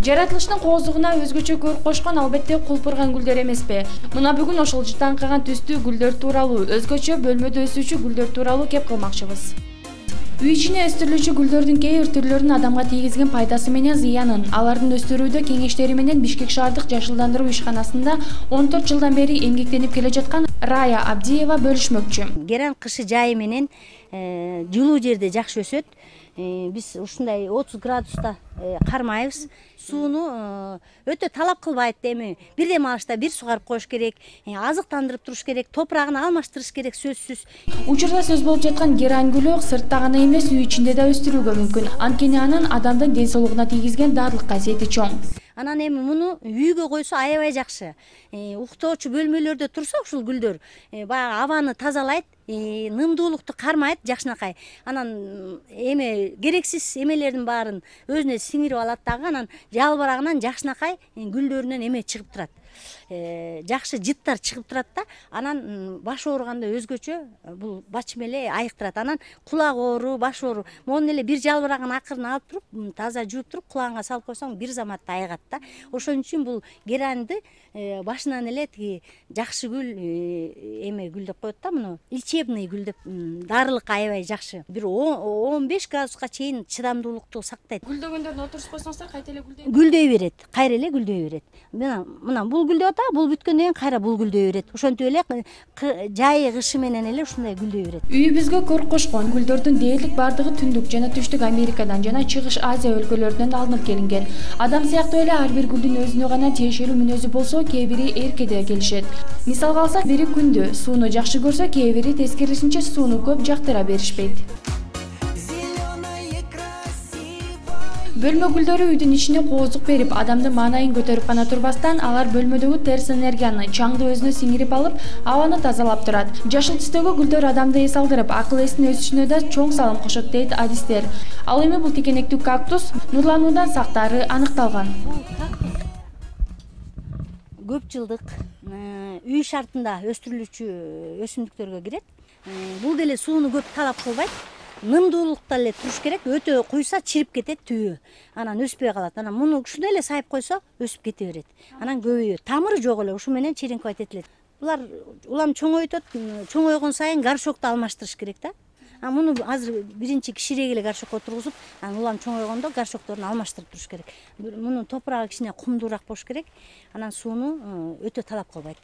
Жаратылыштын кооздугуна өзгөчө көрүп кошкон албетте кулпурган гүлдөр эмеспи? Мына бүгүн ошол жытаңкаган түстүү гүлдөр тууралуу, өзгөчө бөлмөдө өсүүчү гүлдөр тууралуу кеп кылмакчыбыз. Үй ичинде өстүрүлүүчү гүлдөрдүн кээ бир түрлөрүнүн адамга тийгизген пайдасы менен зыянын, алардын өстүрүүдө кеңештери менен Бишкек шаардык жашылдандыруу ишканасында 14 жылдан бери эмгектенип келе жаткан Рая Абдиева бөлүшмөкчү. Геран кышы жайы менен жылуу жерде жакшы өсөт. Биз ушундай 30 градуста кармайбыз. Сууну өтө талап кылбайт. Эми бирдем алышта бир сугарып коюш керек, азыктандырып туруш керек, топурагын алмаштырыш керек сөзсүз. Учурда сөз болуп жаткан геран гүлү сыртта гана эмес, үй ичинде да өстүрүүгө мүмкүн. Анткени анын адамдын ден соолугуна тийгизген даарылык касиети чоң. Анан эми муну үйгө койсо аябай жакшы. Уктоочу бөлмөлөрдө турса ушул гүлдөр баягы абаны тазалайт, нымдуулукту кармайт жакшынакай. Анан эми керексиз эмелердин баарын өзүнө сиңирип алат дагы, анан жалбырагынан жакшынакай гүлдөрүнөн эме чыгып турат. Жакшы жыттар чыгып турат да, анан баш ооруганда өзгөчө бул бачым эле айыктырат. Анан кулак оору, баш оору, монун эле бир жалбырагын акырын алып туруп, таза жууп туруп, кулагыңа салып койсоң бир заматта айыгат да. Ошон үчүн бул геранды башынан эле тиги жакшы гүл эме гүл деп коет да, муну лечебный гүл деп, даарылык аябай жакшы. Бир 15 градуска чейин чыдамдуулукту сактайт. Гүлдөгөндөрдү отурушуп койсоңуздар кайта эле гүлдөй берет, кайра эле гүлдөй берет. Мына бул гүлдөп атат, бул бүткөндөн кийин кайра бул гүлдөй берет. Ошентип эле жайы кышы менен эле ушундай гүлдөй берет. Үйүбүзгө көрүп кошкон гүлдөрдүн дээрлик бардыгы түндүк жана түштүк Америкадан жана Чыгыш Азия өлкөлөрүнөн алынып келинген. Адам сыяктуу эле ар бир гүлдүн өзүнө гана тиешелүү мүнөзү болсо, кээ бири эркеде келишет. Мисалга алсак, бири күндү сууну жакшы көрсө, кээ бири тескерисинче сууну көп жактыра беришпейт. Бөлмө гүлдөрү үйдүн ичине кооздук берип, адамдын маанайын көтөрүп гана турбастан, алар бөлмөдөгү терс энергияны, чаңды өзүнө сиңирип алып, абаны тазалап турат. Жашыл түстөгү гүлдөр адамды эс алдырып, акыл эстин өсүшүнө да чоң салым кошот дейт адистер. Ал эми бул тикенектүү кактус нурлануудан сактаары аныкталган. Көп жылдык үй шартында өстүрүлүүчү өсүмдүктөргө кирет. Бул деле сууну көп талап кылбайт. Нымдуулукта эле туруш керек. Өтө куйса чирип кетет түбү. Анан өспөй калат. Анан муну ушундай эле сайып койсо өсүп кете берет. Анан көбөйөт. Тамыры жок эле, ушу менен черенковать этилет. Булар улам чоңойтот. Чоңойгон сайын горшокту алмаштырыш керек да. Муну азыр биринчи кичирээк эле горшокко тургузуп, анан улам чоңойгондо горшокторун алмаштырып туруш керек. Мунун топурагы кичине кумдуураак болуш керек. Анан сууну өтө талап кылбайт.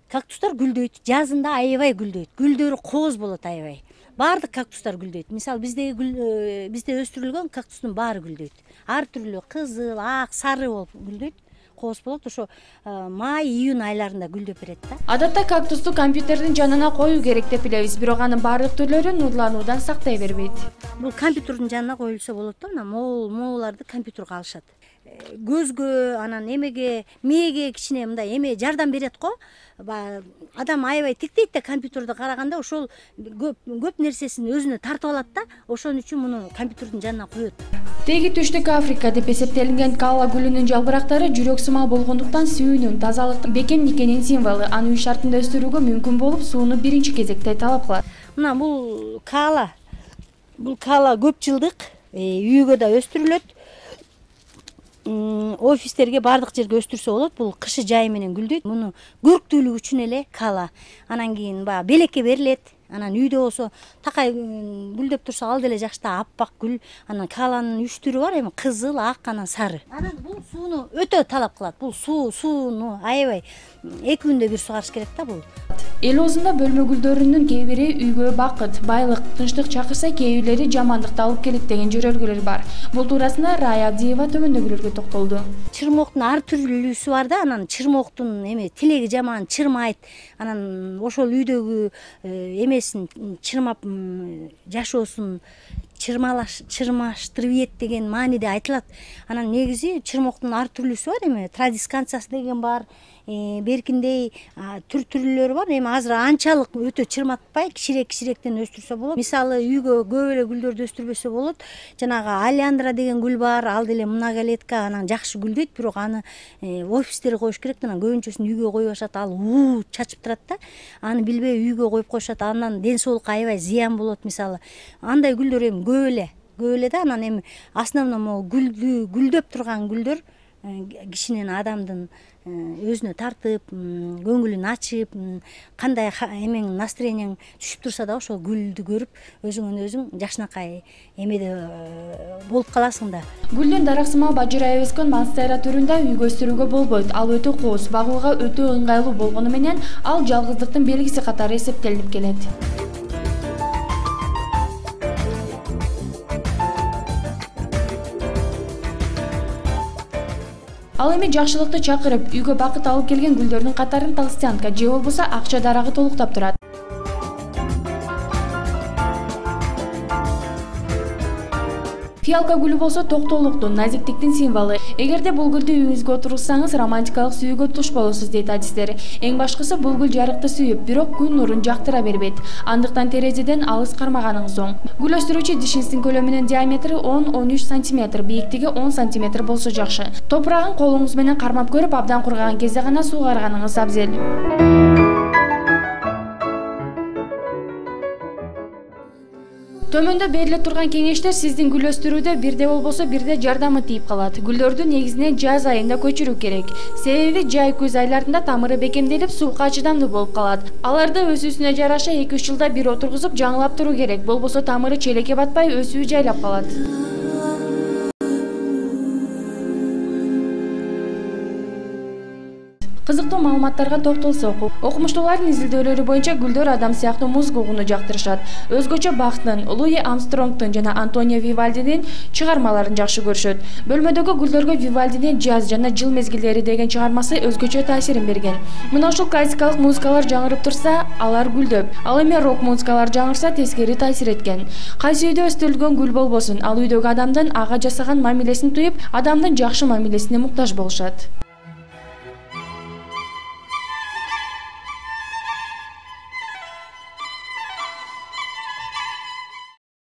Кактустар гүлдөйт. Жазында аябай гүлдөйт. Гүлдөрү кооз болот аябай. Баардык кактустар гүлдөйт. Мисалы бизде өстүрүлгөн кактустун баары гүлдөйт. Ар түрлүү кызыл, ак, сары болуп гүлдөйт. Кооз болот. Ошо май, июнь айларында гүлдөп берет да. Адатта кактусту компьютердин жанына коюу керек деп билебиз, бирок анын баардык түрлөрү нурлануудан сактай бербейт. Бул компьютердин жанына коюлса болот да, мына мооларды компьютерге алышат. Көзгө, анан эмеге, мээге кичине мындай эме жардам берет го. Адам аябай тиктейт да компьютерди караганда, ошол көп нерсесин өзүнө тартып алат да. Ошон үчүн муну компьютердин жанына коет. Теги түштүк Африка деп эсептелинген кала гүлүнүн жалбырактары жүрөк сымал болгондуктан сүйүүнүн, тазалыктын, бекемдикенин символу. Аны үй шартында өстүрүүгө мүмкүн болуп, сууну биринчи кезекте талап кылат. Мына бул кала көп жылдык үйгө да өстүрүлөт. Офистерге бардык жерге өстүрсө болот. Бул кышы жайы менен гүлдөйт. Муну көрктүүлүк үчүн эле кала. Анан кийин баягы белекке берилет. Анан үйдө болсо такай гүлдөп турса ал деле жакшы да, аппак гүл. Анан каланын 3 түрү бар, эми кызыл, ак, анан сары. Анан бул сууну өтө талап кылат. Бул сууну аябай 2 күндө бир сугарыш керек да бул. Эл оозунда бөлмө гүлдөрүнүн кээ бири үйгө бакыт, байлык, тынчтык чакырса, кээ бирлери жамандыкты алып келет деген жөрөлгөлөр бар. Бул туурасында Рая Абдиева төмөндөгүлөргө токтолду. Чырмоктун ар түрлүүсү бар да, анан чырмоктун тилеги жаман, чырмайт. Анан ошол үйдөгү эмесин чырмап жашоосун чырмаштырып деген мааниде айтылат. Анан негизи чырмоктун ар түрлүүсү бар, эми традисканциясы деген бар. Беркиндей түрлөрү бар. Эми азыр анчалык өтө чырматпай, кичирээктен өстүрсө болот. Мисалы үйгө көп эле гүлдөрдү өстүрбөсө болот. Жанагы алиандра деген гүл бар, ал деле многолетка, анан жакшы гүлдөйт, бирок аны офистерге коюш керек. Анан көбүнчөсүн үйгө коюшат, ал чачып турат да. Аны билбей үйгө коюп коюшат. Андан ден соолукка аябай зыян болот. Мисалы андай гүлдөр эми көп эле да. Анан эми основном гүлдөп турган гүлдөр кишинин адамдын өзүнө тартып, көңүлүн ачып, кандай эмең настроениең түшүп турса да ошол гүлдү көрүп өзүңөн өзүң жакшынакай эмеде болуп каласың да. Гүлдүн дараксымал бажырайып өскөн монстера түрүндө үйгө өстүрүүгө болбойт. Ал өтө кооз, багууга өтө ыңгайлуу болгону менен ал жалгыздыктын белгиси катары эсептелип келет. Ал эми жакшылыкты чакырып, үйгө бакыт алып келген гүлдөрдүн катарын толстянка же болбосо акча дарагы толуктап турат. Фиалка гүлү болсо токтоолуктун, назиктиктин символу. Эгерде бул гүлдү үйүңүзгө отургузсаңыз, романтикалык сүйүүгө туш болосуз дейт адистер. Эң башкысы бул гүл жарыкты сүйүп, бирок күн нурун жактыра бербейт. Андыктан терезеден алыс кармаганыңыз оң. Гүл өстүрүүчү дишиңиздин көлөмүнүн диаметри 10-13 см, бийиктиги 10 см болсо жакшы. Топурагын колуңуз менен кармап көрүп, абдан кургаган кезде гана суугарганыңыз абзел. Төмөндө бериле турган кеңештер сиздин гүл өстүрүүдө бирде болбосо бирде жардамы тийип калат. Гүлдөрдү негизинен жаз айында көчүрүү керек. Себеби жай күз айларында тамыры бекемделип, сууга чыдамдуу болуп калат. Аларды өсүүсүнө жараша 2-3 жылда бир отургузуп, жаңылап туруу керек. Болбосо тамыры челекке батпай, өсүү жайлап калат. Кызыктуу маалыматтарга токтолсок, окумуштуулардын изилдөөлөрү боюнча гүлдөр адам сыяктуу музыка угууну жактырышат. Өзгөчө Бахтын, Луи Армстронгдун жана Антонио Вивальдинин чыгармаларын жакшы көрүшөт. Бөлмөдөгү гүлдөргө Вивальдинин «Жаз жана жыл мезгилдери» деген чыгармасы өзгөчө таасирин берген. Мына ушул классикалык музыкалар жаңырып турса, алар гүлдөп, ал эми рок-музыкалар жаңырса тескери таасир эткен. Кайсы үйдө өстүрүлгөн гүл болбосун, ал үйдөгү адамдын ага жасаган мамилесин туюп, адамдын жакшы мамилесине муктаж болушат.